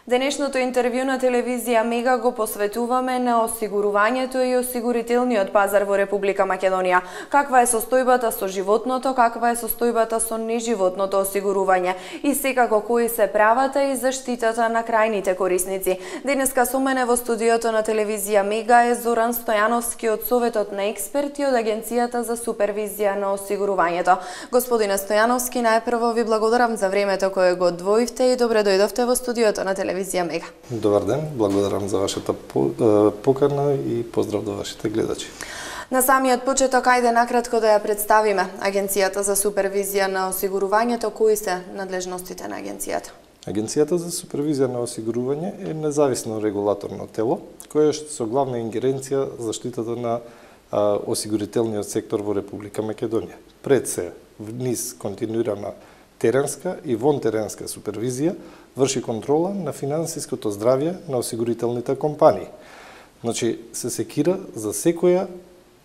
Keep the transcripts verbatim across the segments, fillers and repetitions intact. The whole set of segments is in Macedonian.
Денешното интервју на телевизија Мега го посветуваме на осигурувањето и осигурителниот пазар во Република Македонија. Каква е состојбата со животното, каква е состојбата со неживотното осигурување и секако кои се правата и заштитата на крајните корисници. Денеска со мене во студиото на телевизија Мега е Зоран Стојановски од Советот на експерти од Агенцијата за супервизија на осигурувањето. Господине Стојановски, најпрво ви благодарам за времето кое го одвоивте и добре дојдовте во студиото на телевизија Мега. Добар ден, благодарам за вашата покана и поздрав до вашите гледачи. На самиот почеток, ајде накратко да ја представиме Агенцијата за супервизија на осигурувањето. Кои се надлежностите на Агенцијата? Агенцијата за супервизија на осигурување е независно регулаторно тело, кое што со главна ингеренција заштитата на а, осигурителниот сектор во Република Македонија. Пред се, низ континуирана теренска и вонтеренска супервизија, врши контрола на финансиското здравје на осигурителните компании. Значи, се секира за секоја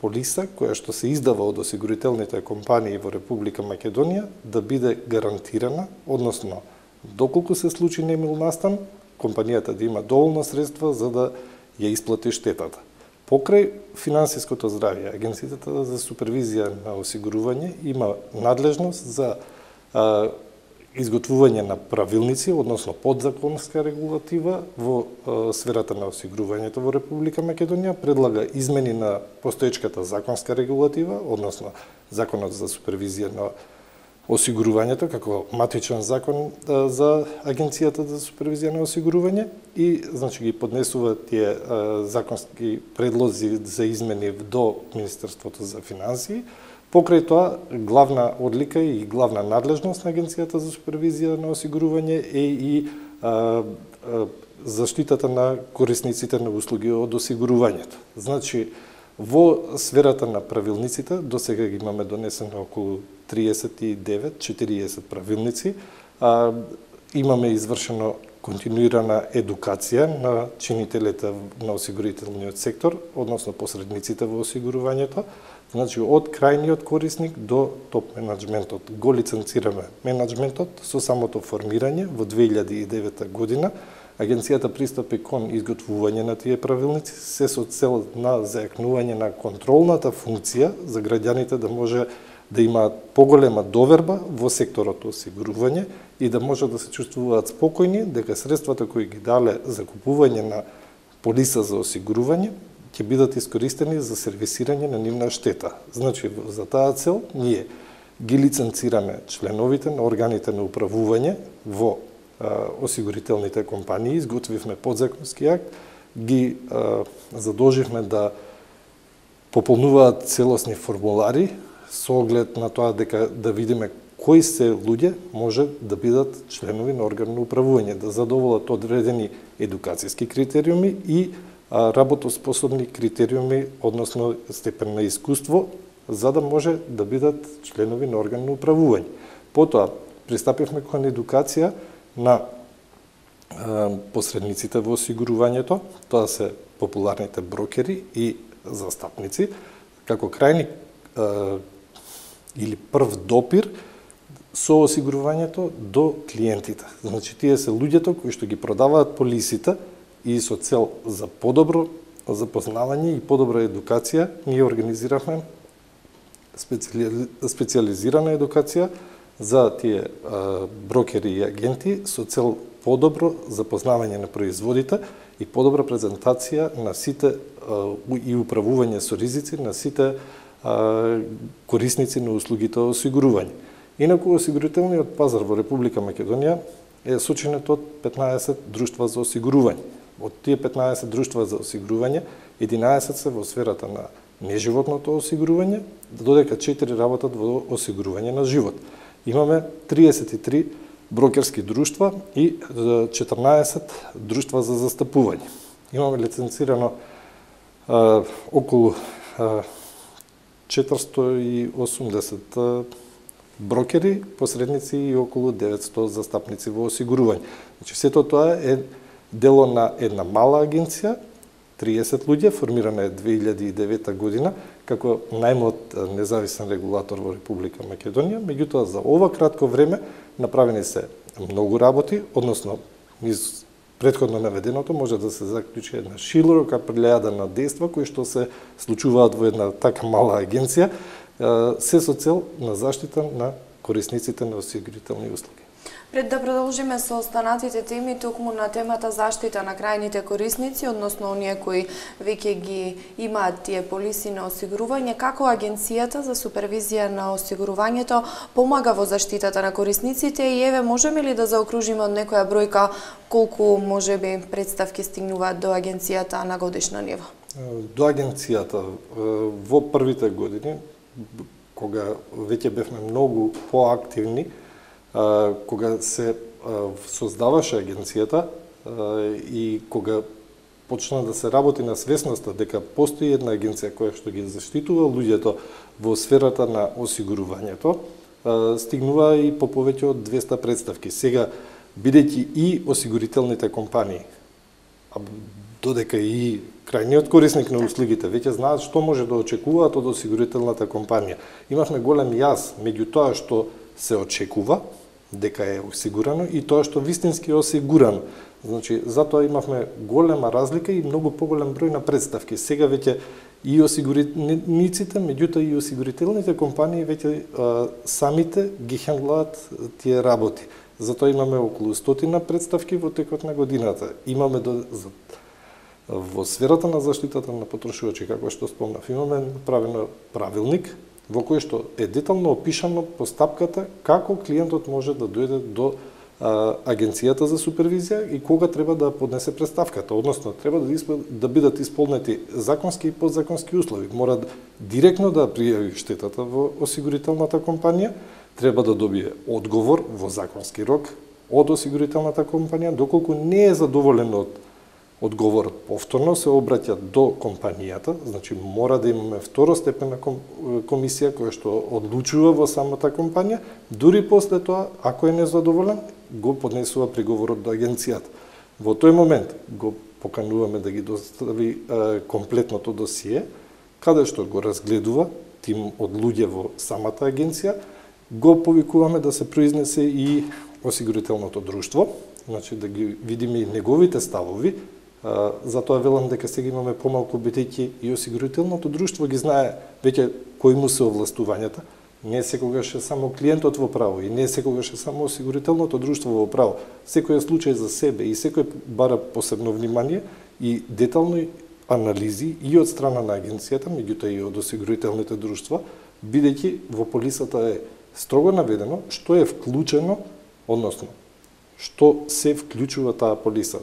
полиса која што се издава од осигурителните компании во Република Македонија да биде гарантирана, односно, доколку се случи немил настан, компанијата да има доволно средства за да ја исплати штетата. Покрај финансиското здравје, Агенцијата за супервизија на осигурување има надлежност за а, изготвување на правилници, односно подзаконска регулатива во е, сферата на осигурувањето во Република Македонија, предлага измени на постоечката законска регулатива, односно Законот за супервизија на осигурувањето како матичен закон е, за Агенцијата за супервизија на осигурување и значи ги поднесува тие е, законски предлози за измени до Министерството за финансии. Покрај тоа, главна одлика и главна надлежност на Агенцијата за супервизија на осигурување е и а, а, заштитата на корисниците на услуги од осигурувањето. Значи, во сферата на правилниците, до сега ги имаме донесено околу триесет и девет четириесет правилници, а, имаме извршено континуирана едукација на чинителите на осигурителниот сектор, односно посредниците во осигурувањето. Значи, од крајниот корисник до топ менеджментот. Го лиценцираме менеджментот со самото формирање во две илјади и девета година. Агенцијата пристапи кон изготвување на тие правилници, се со цел на зајакнување на контролната функција за граѓаните да може да имаат поголема доверба во секторот осигурување и да може да се чувствуваат спокојни дека средствата кои ги дале за купување на полиса за осигурување ќе бидат искористени за сервисирање на нивна штета. Значи, за таа цел, ние ги лиценцираме членовите на органите на управување во а, осигурителните компании, изготвивме подзаконски акт, ги а, задолживме да пополнуваат целосни формулари со оглед на тоа дека да видиме кои се луѓе може да бидат членови на орган на управување, да задоволат одредени едукацијски критериуми и работоспособни критериуми, односно степен на искуство, за да може да бидат членови на орган на управување. Потоа, пристапивме кон едукација на а, посредниците во осигурувањето, тоа се популарните брокери и застапници, како крајни а, или прв допир со осигурувањето до клиентите. Значи, тие се луѓето кои што ги продаваат полисите и со цел за подобро запознавање и подобра едукација, ние организиравме специали... специализирана едукација за тие а, брокери и агенти со цел подобро запознавање на производите и подобра презентација на сите а, и управување со ризици на сите а, корисници на услугите осигурување. Инаку, осигурителниот пазар во Република Македонија е сочинет од петнаесет друштва за осигурување. Од тие петнаесет друштва за осигурување, единаесет се во сферата на неживотното осигурување, додека четири работат во осигурување на живот. Имаме триесет и три брокерски друштва и четрнаесет друштва за застапување. Имаме лиценцирано а, околу а, четиристо и осумдесет брокери, посредници и околу деветсто застапници во осигурување. Значи, сето тоа е дело на една мала агенција, триесет луѓе, формирана е две илјади и девета година, како најмлад независен регулатор во Република Македонија. Меѓутоа, за ова кратко време направени се многу работи, односно низ претходно наведеното може да се заклучи една широка плејада на дејства кои што се случуваат во една така мала агенција, се со цел на заштита на корисниците на осигурителни услуги. Пред да продолжиме со останатите теми, токму на темата заштита на крајните корисници, односно оние кои веќе ги имаат тие полиси на осигурување, како Агенцијата за супервизија на осигурувањето помага во заштитата на корисниците и еве можеме ли да заокружиме од некоја бројка колку можеби представки стигнуваат до Агенцијата на годишно ниво? До Агенцијата во првите години, кога веќе бевме многу поактивни, кога се создаваше агенцијата и кога почна да се работи на свесноста дека постои една агенција која што ги заштитува луѓето во сферата на осигурувањето, стигнува и по повеќе од двеста представки. Сега, бидејќи и осигурителните компании, а додека и крајниот корисник на услугите веќе знаат што може да очекуваат од осигурителната компанија, имавме голем јаз меѓу тоа што се очекува дека е осигурано и тоа што вистински е осигурано. Значи, затоа имавме голема разлика и многу поголем број на представки. Сега веќе и осигурениците, меѓутоа и осигурителните компании веќе а, самите ги хендлаат тие работи. Затоа имаме околу стотина представки во текот на годината. Имаме до, за, во сферата на заштитата на потрошувачи, како што спомнав, имаме направено правилник во кој што е детално опишано постапката како клиентот може да дојде до а, Агенцијата за супервизија и кога треба да поднесе представката, односно треба да, испол... да бидат исполнети законски и подзаконски услови. Мора директно да пријави штетата во осигурителната компанија, треба да добие одговор во законски рок од осигурителната компанија, доколку не е задоволен од одговорот повторно се обраќа до компанијата, значи мора да имаме второстепена комисија која што одлучува во самата компанија, дури после тоа, ако е незадоволен, го поднесува приговорот до агенцијата. Во тој момент го покануваме да ги достави е, комплетното досие, каде што го разгледува тим од луѓе во самата агенција, го повикуваме да се произнесе и осигурителното друштво, значи да ги видиме и неговите ставови. Затоа велам дека сега имаме помалку, бидејќи и осигурителното друштво ги знае веќе кои му се овластувањата. Не секогаш е само клиентот во право и не секогаш е само осигурителното друштво во право. Секој е случај за себе и секој бара посебно внимание и детални анализи и од страна на агенцијата, меѓутоа и од осигурителните друштва, бидејќи во полисата е строго наведено што е вклучено, односно што се вклучува таа полиса,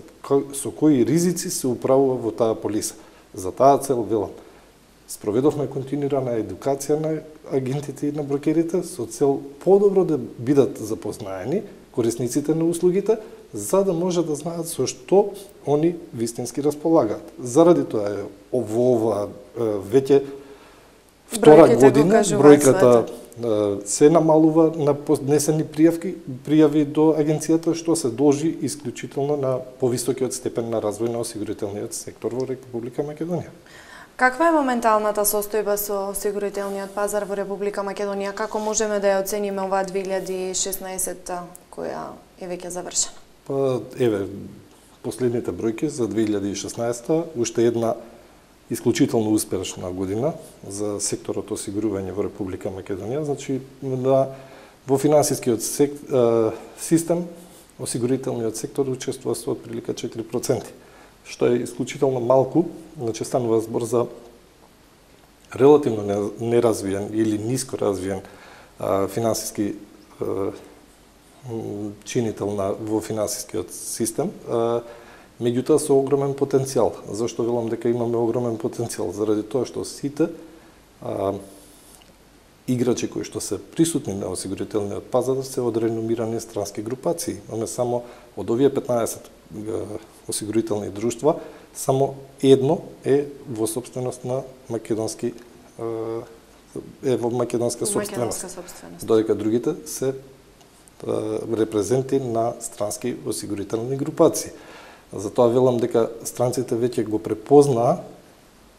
со кои ризици се управува во таа полиса. За таа цел, велам, спроведовме континуирана едукација на агентите и на брокерите со цел подобро да бидат запознаени корисниците на услугите, за да може да знаат со што они вистински располагаат. Заради тоа е во ова веќе втора година бројката се намалува на поднесени пријавки, пријави до агенцијата, што се должи исклучително на повисокиот степен на развој на осигурителниот сектор во Република Македонија. Каква е моменталната состојба со осигурителниот пазар во Република Македонија? Како можеме да ја оцениме оваа две илјади и шеснаесетта која е веќе завршена? Па еве последните бројки за две илјади и шеснаесетта, уште една исклучително успешна година за секторот осигурување во Република Македонија. Значи, на, во финансискиот сек, е, систем, осигурителниот сектор учествува со отприлика четири проценти, што е исклучително малку, значи станува збор за релативно неразвиен или ниско развиен а, финансиски а, чинител на, во финансискиот систем, а, меѓутоа со огромен потенцијал. Зашто велам дека имаме огромен потенцијал? Заради тоа што сите а, играчи кои што се присутни на осигурителниот пазар се од реномирани странски групации. Имаме само од овие петнаесет осигурителни друштва, само едно е во собственост на македонски е во македонска собственост. Додека другите се репрезенти на странски осигурителни групации. Затоа велам дека странците веќе го препознаа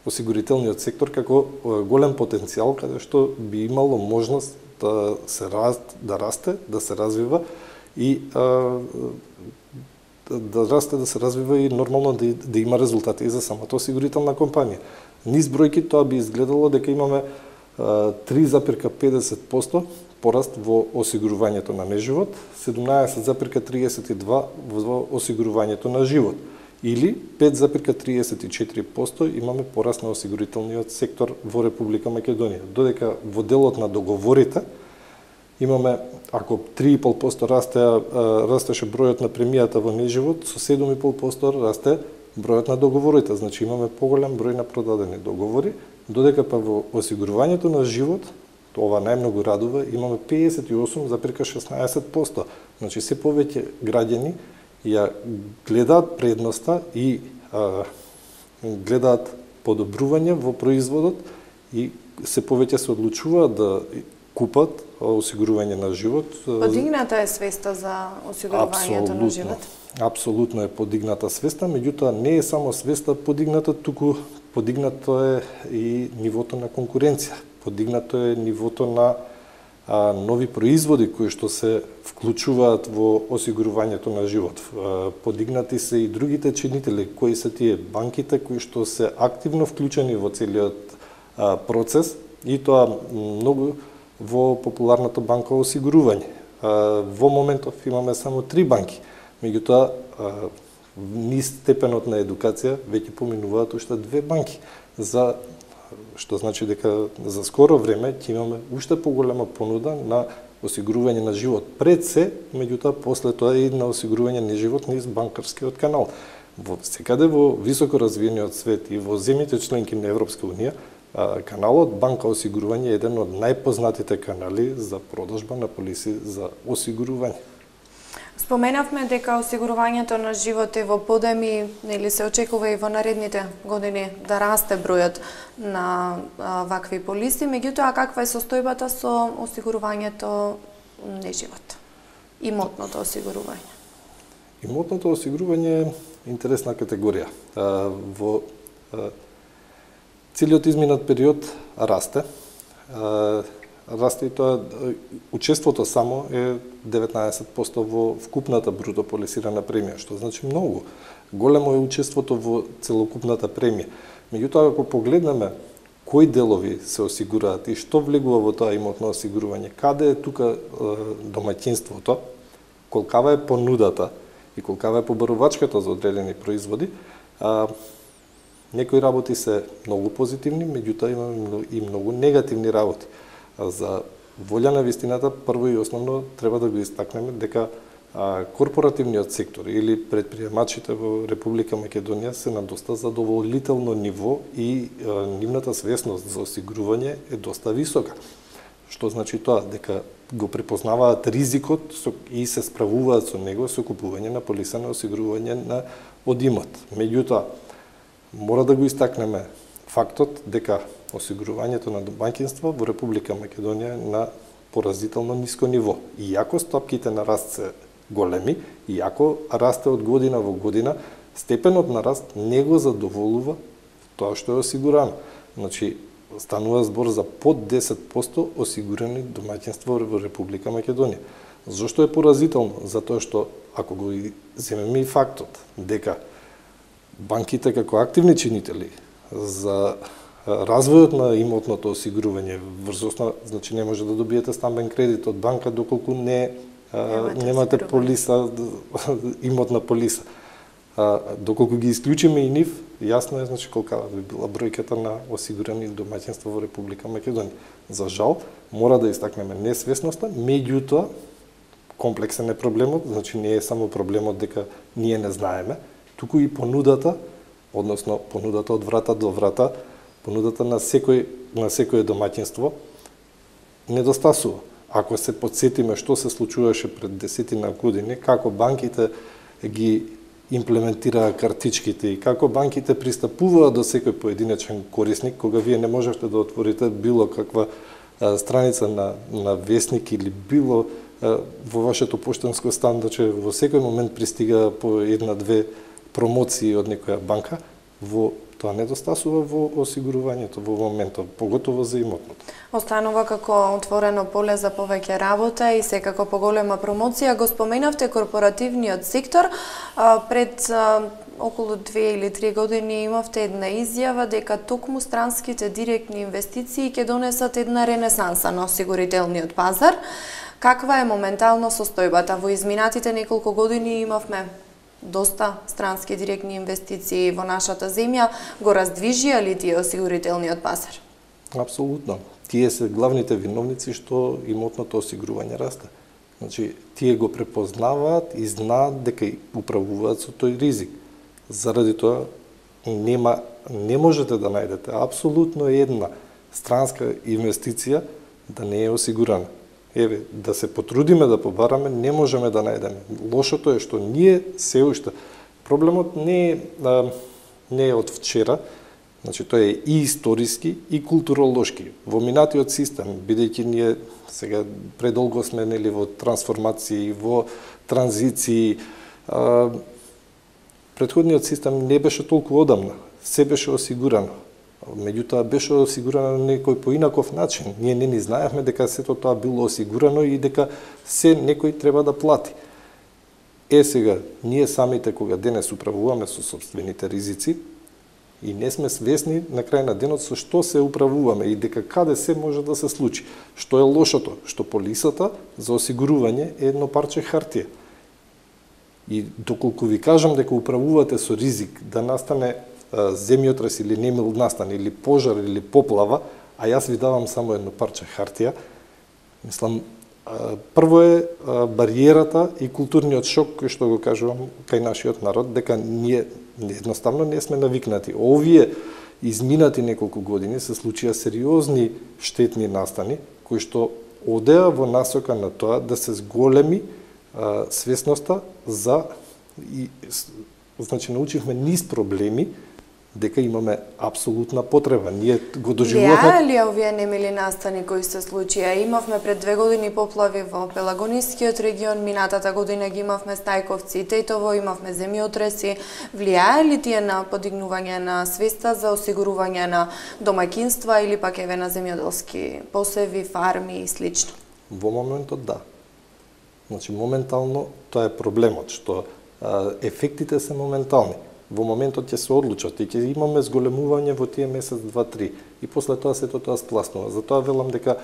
осигурителниот сектор како голем потенцијал каде што би имало можност да се раст, да расте, да се развива и а, да расте, да се развива и нормално да, да има резултати и за самата осигурителна компанија. Низ бројки тоа би изгледало дека имаме три запирка педесет проценти пораст во осигурувањето на неживот, седумнаесет запирка триесет и два во осигурувањето на живот, или пет запирка триесет и четири проценти имаме пораст на осигурителниот сектор во Република Македонија. Додека во делот на договорите имаме, ако три и пол проценти расте, растеше бројот на премијата во неживот, со седум и пол проценти расте бројот на договорите. Значи имаме поголем број на продадени договори, додека па во осигурувањето на живот, ова најмногу радува, имаме педесет и осум запирка шеснаесет проценти. Значи се повеќе граѓани ја гледаат предноста и а, гледаат подобрување во производот и се повеќе се одлучуваат да купат осигурување на живот. Подигната е свеста за осигурувањето на живот? Апсолутно е подигната свеста, меѓутоа не е само свеста подигната, туку подигнато е и нивото на конкуренција. Подигнато е нивото на а, нови производи кои што се вклучуваат во осигурувањето на живот. А, подигнати се и другите чинители, кои се тие банките кои што се активно вклучени во целиот а, процес, и тоа многу во популарната банка осигурување. А, во моментов имаме само три банки, меѓутоа низ степенот на едукација веќе поминуваат уште две банки, за што значи дека за скоро време ќе имаме уште поголема понуда на осигурување на живот пред се, меѓутоа после тоа и на осигурување на живот низ банкарскиот канал. Во секаде во високо развиениот свет и во земјите членки на Европска унија, каналот банка осигурување е еден од најпознатите канали за продажба на полиси за осигурување. Споменавме дека осигурувањето на живот е во подеми, нели се очекува и во наредните години да расте бројот на а, вакви полиси, меѓутоа каква е состојбата со осигурувањето неживот? Имотното осигурување. Имотното осигурување е интересна категорија. А, во а, целиот изминат период расте. А, расте и тоа, учеството само е деветнаесет проценти во вкупната бруто полисирана премија, што значи многу. Големо е учеството во целокупната премија. Меѓутоа, ако погледнеме кои делови се осигураат и што влегува во тоа имотно осигурување, каде е тука домаќинството, колкава е понудата и колкава е побарувачката за одредени производи, а, некои работи се многу позитивни, меѓутоа имаме и многу негативни работи. За волја на вистината, прво и основно треба да го истакнеме дека а, корпоративниот сектор или предприемачите во Република Македонија се на доста задоволително ниво и а, нивната свесност за осигурување е доста висока. Што значи тоа? Дека го препознаваат ризикот и се справуваат со него со купување на полиса на осигурување на од имот. Меѓутоа, мора да го истакнеме фактот дека осигурувањето на домаќинства во Република Македонија е на поразително ниско ниво. Иако стопките на раст се големи, иако расте од година во година, степенот на раст не го задоволува тоа што е осигурано. Значи, станува збор за под десет проценти осигурани домаќинства во Република Македонија. Зошто е поразително? Затоа што, ако го земеме и фактот дека банките како активни чинители за развојот на имотното осигурување врз основа, значи не може да добиете стамбен кредит од банка доколку не а, немате полиса, имотна полиса. А, доколку ги исклучиме и нив, јасно е значи колкава би била бројката на осигурани домаќинства во Република Македонија. За жал, мора да истакнеме несвесноста, меѓутоа комплексен е проблемот, значи не е само проблемот дека ние не знаеме, туку и понудата, односно понудата од врата до врата, понудата на секој на секое домаќинство недостасува. Ако се потсетиме што се случуваше пред десетина години, како банките ги имплементираа картичките и како банките пристапуваа до секој поединечен корисник, кога вие не можевте да отворите било каква а, страница на, на весник или било а, во вашето поштанско стандаче, во секој момент пристига по една-две промоции од некоја банка, во тоа недостасува во осигурувањето во моментот, поготово за имотното. Останува како отворено поле за повеќе работа и секако поголема промоција. Го споменавте корпоративниот сектор. Пред околу две или три години имавте една изјава дека токму странските директни инвестиции ќе донесат една ренесанса на осигурителниот пазар. Каква е моментално состојбата? Во изминатите неколку години имавме доста странски директни инвестиции во нашата земја. Го раздвижија ли тие осигурителниот пазар? Апсолутно. Тие се главните виновници што имотното осигурување расте. Значи, тие го препознаваат и знаат дека управуваат со тој ризик. Заради тоа нема, не можете да најдете апсолутно една странска инвестиција да не е осигурана. Еве, да се потрудиме да побараме, не можеме да најдеме. Лошото е што ние се уште проблемот не е а, не е од вчера, значи тој е и историски и културолошки. Во минатиот систем, бидејќи ние сега предолго сме нели во трансформации, во транзиции, а, претходниот систем не беше толку одамна, се беше осигурано. Меѓутоа беше осигурано на некој поинаков начин. Ние не ни знаевме дека сето тоа било осигурано и дека се некој треба да плати. Е сега, ние самите кога денес управуваме со сопствените ризици и не сме свесни на крај на денот со што се управуваме и дека каде се може да се случи. Што е лошото? Што полисата за осигурување е едно парче хартија. И доколку ви кажам дека управувате со ризик да настане земјотрес или немил настане, или пожар, или поплава, а јас ви давам само едно парче хартија, мислам, прво е бариерата и културниот шок, кој што го кажувам кај нашиот народ, дека ние едноставно не сме навикнати. Овие изминати неколку години се случија сериозни штетни настани, кои што одеа во насока на тоа да се зголеми свесноста за и, значи научивме низ проблеми дека имаме апсолутна потреба. Ние го доживувавме. Влијае ли овие немили настани кои се случија? Имавме пред две години поплави во Пелагонискиот регион, минатата година ги имавме Стајковци и Тетово, имавме земјотреси. Влијае ли тие на подигнување на свеста за осигурување на домаќинства или пак еве на земјоделски посеви, фарми и слично? Во моментот да. Значи моментално тоа е проблемот, што а, ефектите се моментални. Во моментот ќе се одлучат и ќе имаме зголемување во тие месец, два, три. И после тоа сето тоа спласнува. Затоа велам дека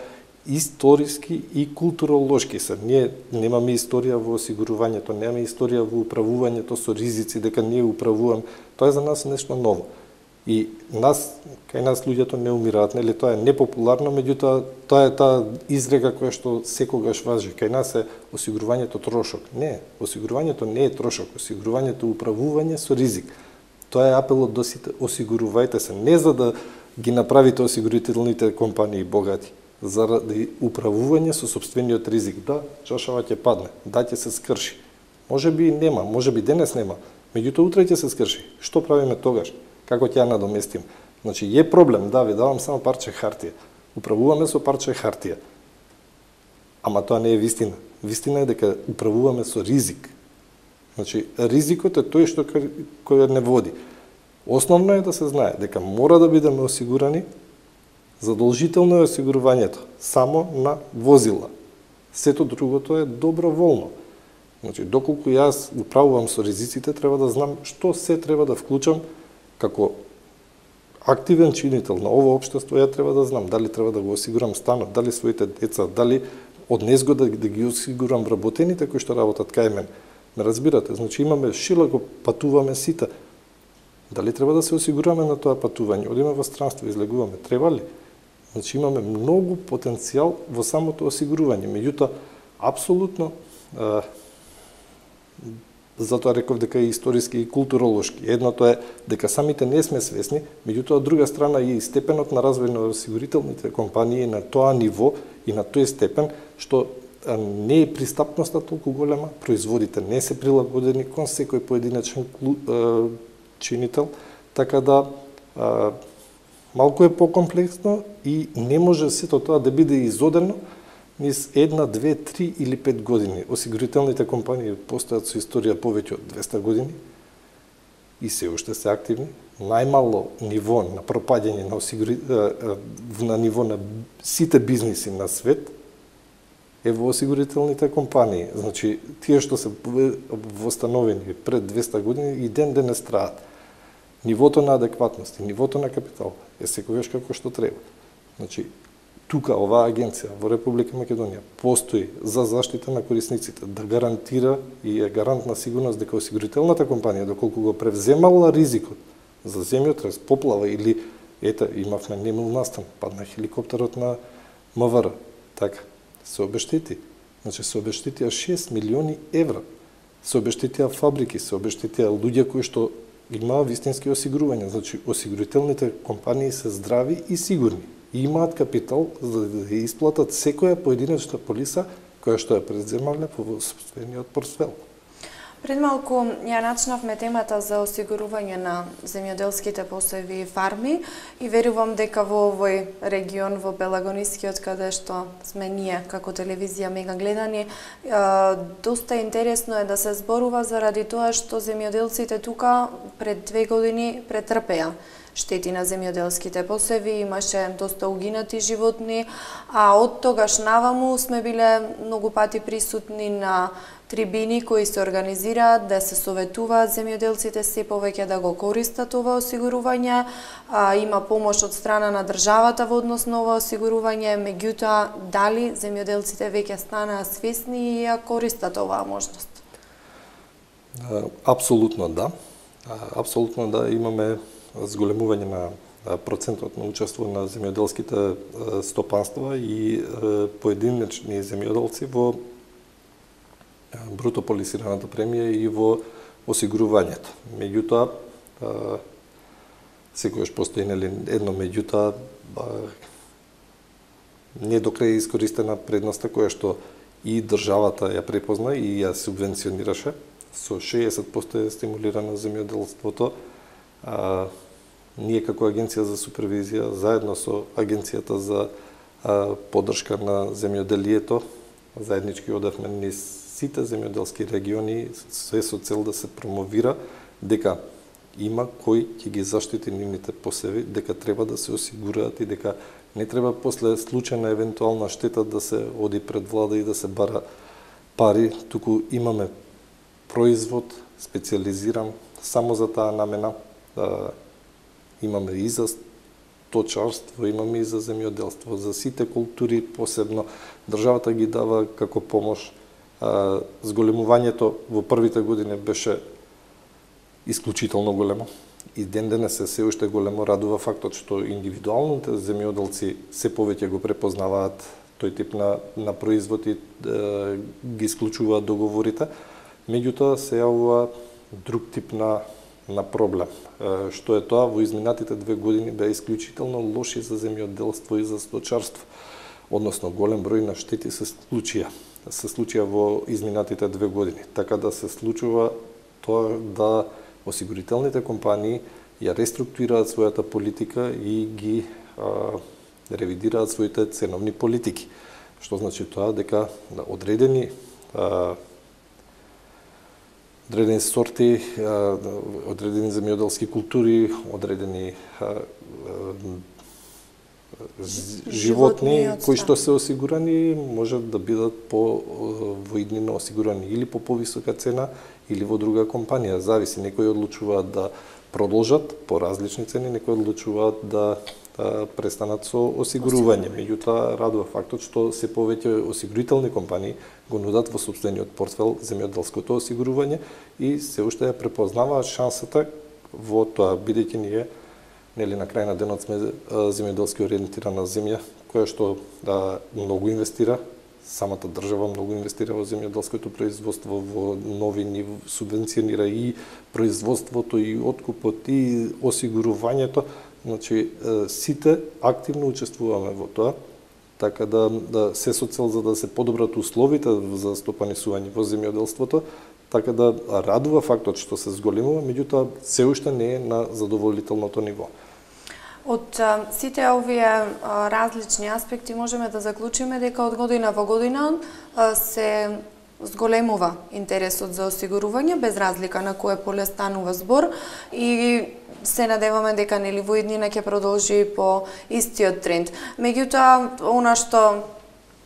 историски и културолошки се. Ние немаме историја во осигурувањето, немаме историја во управувањето со ризици, дека ние управуваме. Тоа е за нас нешто ново. И нас, кај нас луѓето не умираат, нели тоа е непопуларно, меѓутоа тоа е таа изрека која што секогаш важи. Кај нас е осигурувањето трошок. Не, осигурувањето не е трошок, осигурувањето е управување со ризик. Тоа е апелот до сите, осигурувајте се, не за да ги направите осигурителните компании богати, заради управување со сопствениот ризик. Да, чашава ќе падне, да ќе се скрши. Може би нема, може би денес нема, меѓутоа утре ќе се скрши. Што правиме тогаш? Како ќе ја надоместим? Значи, е проблем, да, ви давам само парче хартија. Управуваме со парче хартија. Ама тоа не е вистина. Вистина е дека управуваме со ризик. Значи, ризикот е тој што кој не води. Основно е да се знае дека мора да бидеме осигурани, задолжително е осигурувањето само на возила. Сето другото е доброволно. Значи, доколку јас управувам со ризиците, треба да знам што се треба да вклучам како активен чинител на ово општество. Ја треба да знам дали треба да го осигурам станот, дали своите деца, дали од незгода да ги осигурам вработените кои што работат кај мен. Ме разбирате? Значи имаме широко, патуваме сите. Дали треба да се осигураме на тоа патување? Одиме во странство, излегуваме. Треба ли? Значи имаме многу потенцијал во самото осигурување. Меѓутоа, апсолутно, а, затоа реков дека е историски и културолошки. Едното е дека самите не сме свесни, меѓутоа од друга страна и степенот на развој на осигурителните компании на тоа ниво и на тој степен што не е пристапноста толку голема, производите не се прилагодени кон секој поединечен чинител, така да а, малку е покомплексно и не може сето тоа да биде изодено низ една, две, три или пет години. Осигурителните компании постојат со историја повеќе од двеста години и се уште се активни. најмало ниво на пропаѓање на осигури... на ниво на сите бизниси на свет е во осигурителните компании. Значи, тие што се востановени пред двеста години и ден денес траат. Нивото на адекватност и нивото на капитал е секогаш како што треба. Значи, тука оваа агенција во Република Македонија постои за заштита на корисниците, да гарантира и е гарант на сигурност дека осигурителната компанија, доколку го превземала ризикот за земјотрес, поплава или, ета, имавме немил настан, падна хеликоптерот на МВР, така, се обештети. Значи, се обештетија шест милиони евра. Се обештетија фабрики, се обештетија луѓе кои што имаа вистински осигурувања. Значи, осигурителните компании се здрави и сигурни. И имаат капитал за да исплатат секоја поединечна полиса која што ја преземале во собствениот портфел. Пред малку ја начнавме темата за осигурување на земјоделските посеви и фарми и верувам дека во овој регион, во Пелагонискиот, каде што сме ние како телевизија Мега гледани, доста интересно е да се зборува заради тоа што земјоделците тука пред две години претрпеа штети на земјоделските посеви, имаше доста угинати животни, а од тогаш наваму сме биле многу пати присутни на трибини кои се организираат да се советуваат земјоделците се повеќе да го користат ова осигурување. А, има помош од страна на државата во однос на ова осигурување, меѓутоа дали земјоделците веќе станаа свесни и ја користат оваа можност? Апсолутно да. Апсолутно да, имаме зголемување на процентот на учество на земјоделските стопанства и поединечни земјоделци во бруто полисираната премија и во осигурувањето. Меѓутоа, секојаш постои нели едно меѓутоа не до крај искористена предноста која што и државата ја препозна и ја субвенционираше. Со шеесет проценти е стимулирано земјоделството. А, ние како Агенција за супервизија, заедно со Агенцијата за а, поддршка на земјоделието, заеднички одевме низ сите земјоделски региони, се со цел да се промовира дека има кој ќе ги заштити нивните посеви, дека треба да се осигураат и дека не треба после случајна евентуална штета да се оди пред влада и да се бара пари, туку имаме производ специализиран само за таа намена. Да, имаме и за сточарство, имаме и за земјоделство, за сите култури посебно. Државата ги дава како помош. А, зголемувањето во првите години беше исклучително големо. И ден денес е се уште големо. Радува фактот што индивидуалните земјоделци се повеќе го препознаваат тој тип на, на производ и е, ги исклучуваат договорите. Меѓутоа се јавува друг тип на на проблем. Што е тоа, во изминатите две години беа исклучително лоши за земјоделство и за сточарство. Односно, голем број на штети се случија. Се случија во изминатите две години. Така да се случува тоа да осигурителните компании ја реструктурираат својата политика и ги а, ревидираат своите ценовни политики. Што значи тоа дека одредени а, одредени сорти, одредени земјоделски култури, одредени животни кои што се осигурани можат да бидат по во иднина осигурани или по повисока цена или во друга компанија. Зависи, некои одлучуваат да продолжат по различни цени, некои одлучуваат да престанат со осигурување. Меѓутоа, радува фактот што се повеќе осигурителни компании го нудат во собствениот портфел земјоделското осигурување и се уште ја препознаваат шансата во тоа, бидејќи ние нели на крај на денот сме земјоделски ориентирана земја која што да многу инвестира, самата држава многу инвестира во земјоделското производство, во новини, субвенционира и производството и откупот и осигурувањето. Значи, сите активно учествуваме во тоа, така да, да се со цел за да се подобрат условите за стопанисување во земјоделството, така да радува фактот што се зголемува, меѓутоа се уште не е на задоволителното ниво. Од а, сите овие а, различни аспекти можеме да заклучиме дека од година во година а, се зголемува интересот за осигурување, без разлика на кое поле станува збор, и се надеваме дека нели во иднина ќе продолжи по истиот тренд. Меѓутоа, она што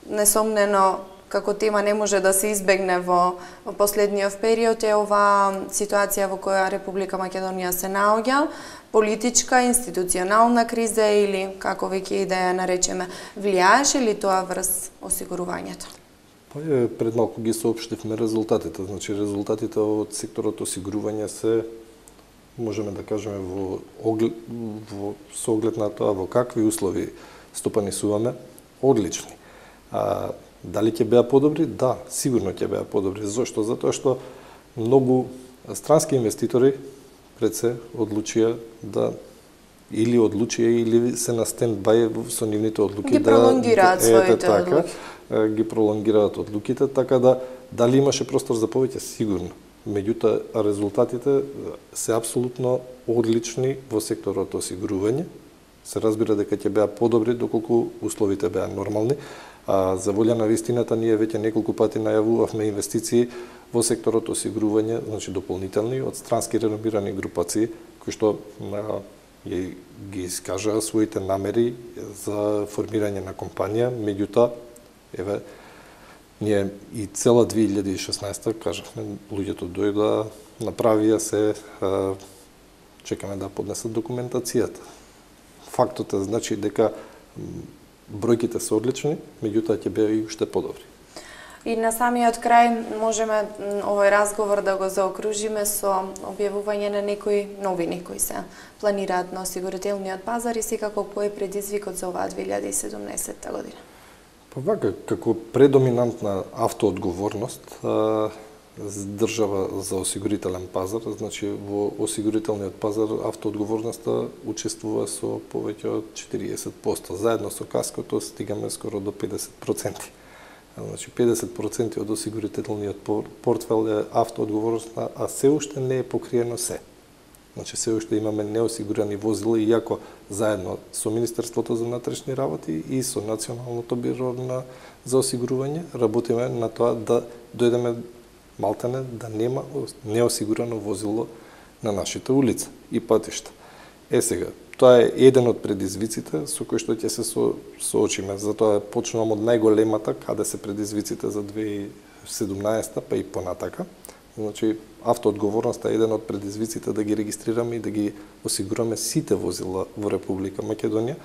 несомнено како тема не може да се избегне во, во последниот период е оваа ситуација во која Република Македонија се наоѓа, политичка, институционална криза или како веќе и да ја наречеме. Влијаеше ли тоа врз осигурувањето? Па е, пред малку ги соопштивме резултатите. Значи, резултатите од секторот осигурување се, можеме да кажеме, во, оглед, во со оглед на тоа во какви услови стопанисуваме, одлични. А, дали ќе беа подобри? Да, сигурно ќе беа подобри. Зошто? Затоа што многу странски инвеститори пред се одлучија да или одлучија или се на стендбај со нивните одлуки, ги да пролонгираат да, своите така, одлуки. Ги пролонгираат одлуките, така да дали имаше простор за повеќе? Сигурно. Меѓутоа, резултатите се апсолутно одлични во секторот осигурување. Се разбира дека ќе беа подобри доколку условите беа нормални. А за волја на вистината, ние веќе неколку пати најавувавме инвестиции во секторот осигурување, значи дополнителни од странски реномирани групации кои што на, ги, ги искажаа своите намери за формирање на компанија. Меѓутоа, еве, ние и цела две илјади и шеснаесета, кажавме, луѓето дојдоа, направија се, а, чекаме да поднесат документацијата. Фактот е, значи, дека бројките се одлични, меѓутоа ќе беа и уште подобри. И на самиот крај можеме овој разговор да го заокружиме со објавување на некои новини кои се планираат на осигурителниот пазар и секако кој е предизвикот за оваа две илјади и седумнаесетта година. Па вака, како предоминантна автоодговорност, држава за осигурителен пазар, значи во осигурителниот пазар автоодговорноста учествува со повеќе од четириесет проценти. Заедно со каското стигаме скоро до педесет проценти. Значи педесет проценти од осигурителниот портфел е автоодговорноста, а се уште не е покриено се. Значи се уште имаме неосигурани возила, иако заедно со Министерството за внатрешни работи и со Националното биро на за осигурување работиме на тоа да дојдеме малтене да нема неосигурано возило на нашите улици и патишта. Е сега, тоа е еден од предизвиците со кои што ќе се со, соочиме. Затоа почнувам од најголемата, каде се предизвиците за две илјади и седумнаесета, па и понатака. Значи, автоодговорноста е еден од предизвиците да ги регистрираме и да ги осигураме сите возила во Република Македонија.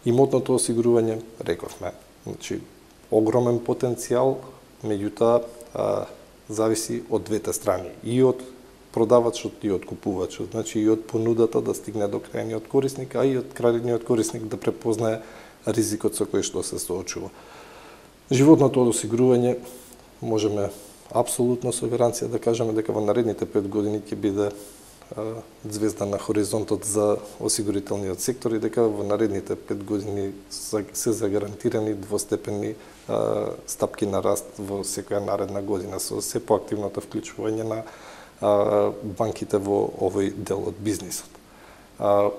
Имотното осигурување, рековме, значи, огромен потенцијал, меѓутоа зависи од двете страни, и од продавачот и од купувачот, значи и од понудата да стигне до крајниот корисник, а и од крајниот корисник да препознае ризикот со кој што се соочува. Животното осигурување можеме апсолутно со гаранција да кажеме дека во наредните пет години ќе биде а, звезда на хоризонтот за осигурителниот сектор и дека во наредните пет години се загарантирани двостепени а, стапки на раст во секоја наредна година со се поактивното вклучување на а, банките во овој дел од бизнисот. А,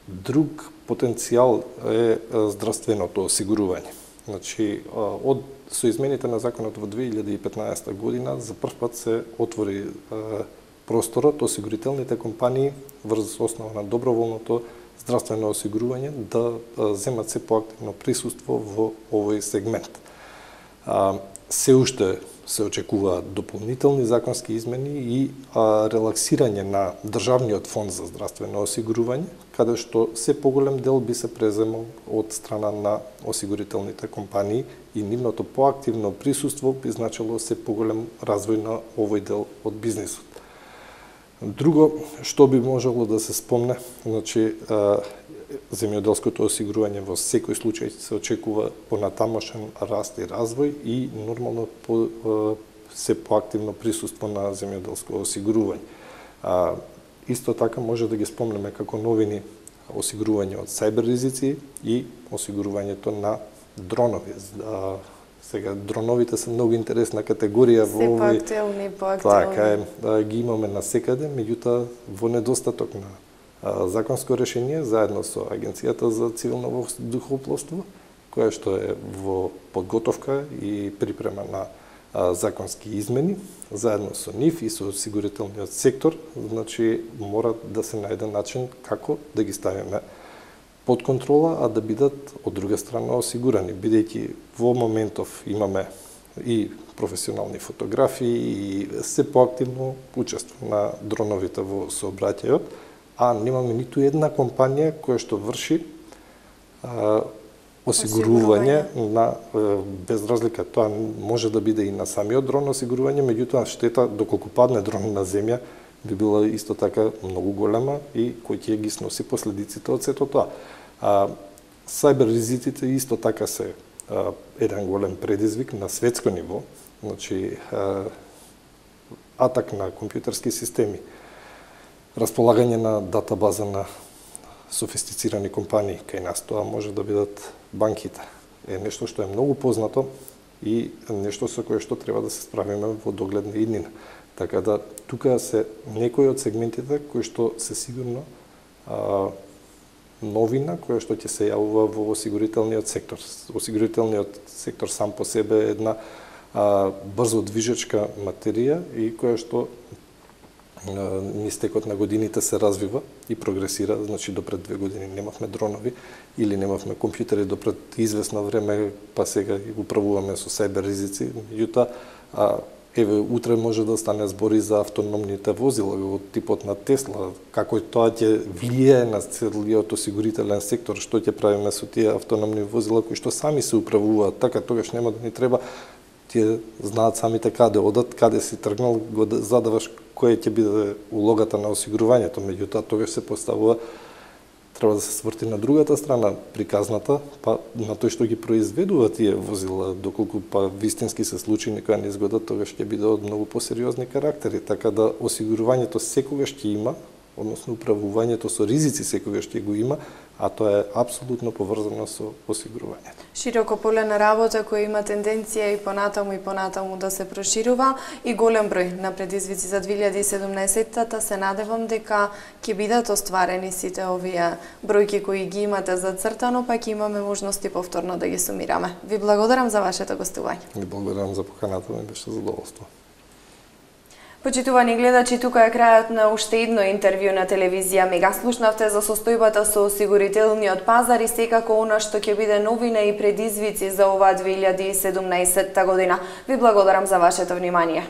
друг потенцијал е здравственото осигурување. Значи, од со измените на законот во две илјади и петнаесета година за прв пат се отвори е, просторот осигурителните компании врз основа на доброволното здравствено осигурување да е, земат се поактивно присуство во овој сегмент. А, се уште се очекуваат дополнителни законски измени и а, релаксирање на државниот фонд за здравствено осигурување, каде што се поголем дел би се преземал од страна на осигурителните компании и нивното поактивно присуство би значило се поголем развој на овој дел од бизнисот. Друго што би можело да се спомне, значи а, земјоделското осигурување во секој случај се очекува понатамошен раст и развој и нормално по, се поактивно присуство на земјоделско осигурување. А, исто така може да ги спомнеме како новини осигурување од сајбер ризици и осигурувањето на дронови. А, сега дроновите се многу интересна категорија во овој. Се поактивни, поактивни. Така е, да, ги имаме насекаде, меѓутоа во недостаток на законско решение заедно со Агенцијата за цивилно воздухопловство, која што е во подготовка и припрема на законски измени, заедно со нив и со осигурителниот сектор, значи мора да се најде начин како да ги ставиме под контрола, а да бидат од друга страна осигурани, бидејќи во моментов имаме и професионални фотографии и се поактивно учество на дроновите во сообраќајот, а немаме ниту една компанија која што врши а, осигурување на, без разлика, тоа може да биде и на самиот дрон осигурување, меѓутоа штета доколку падне дрон на земја би била исто така многу голема и кој ќе ги сноси последиците од сето тоа. А, Сајбер ризиците исто така се а, еден голем предизвик на светско ниво, значи а, атак на компјутерски системи, располагање на датабаза на софистицирани компании, кај нас тоа може да бидат банките. Е нешто што е многу познато и нешто со кое што треба да се справиме во догледна иднина. Така да тука се некои од сегментите кои што се сигурно а, новина која што ќе се јавува во осигурителниот сектор. Осигурителниот сектор сам по себе е една а, брзо движечка материја и која што низ текот на годините се развива и прогресира, значи допред две години немавме дронови или немавме компјутери допред известно време, па сега ги управуваме со сајбер ризици, меѓутоа еве утре може да стане збори за автономните возила од типот на Тесла, како тоа ќе влијае на целиот осигурителен сектор, што ќе правиме со тие автономни возила кои што сами се управуваат, така тогаш нема да ни треба, тие знаат самите каде одат, каде си тргнал, го задаваш која ќе биде улогата на осигурувањето, меѓутоа тогаш се поставува, треба да се сврти на другата страна приказната, па на тој што ги произведува тие возила, доколку па вистински се случи некоја незгода, тогаш ќе биде од многу посериозни карактери, така да осигурувањето секогаш ќе има, односно управувањето со ризици секогаш ќе го има, а тоа е апсолутно поврзано со осигурувањето. Широко поле на работа која има тенденција и понатаму и понатаму да се проширува и голем број на предизвици за две илјади и седумнаесетта се надевам дека ќе бидат остварени сите овие бројки кои ги имате зацртано, па ќе имаме можности повторно да ги сумираме. Ви благодарам за вашето гостување. Ви благодарам за поканата, ми беше задоволство. Почитувани гледачи, тука е крајот на уште едно интервју на телевизија Мега. Слушнавте за состојбата со осигурителниот пазар и секако она што ќе биде новина и предизвици за оваа две илјади и седумнаесетта година. Ви благодарам за вашето внимание.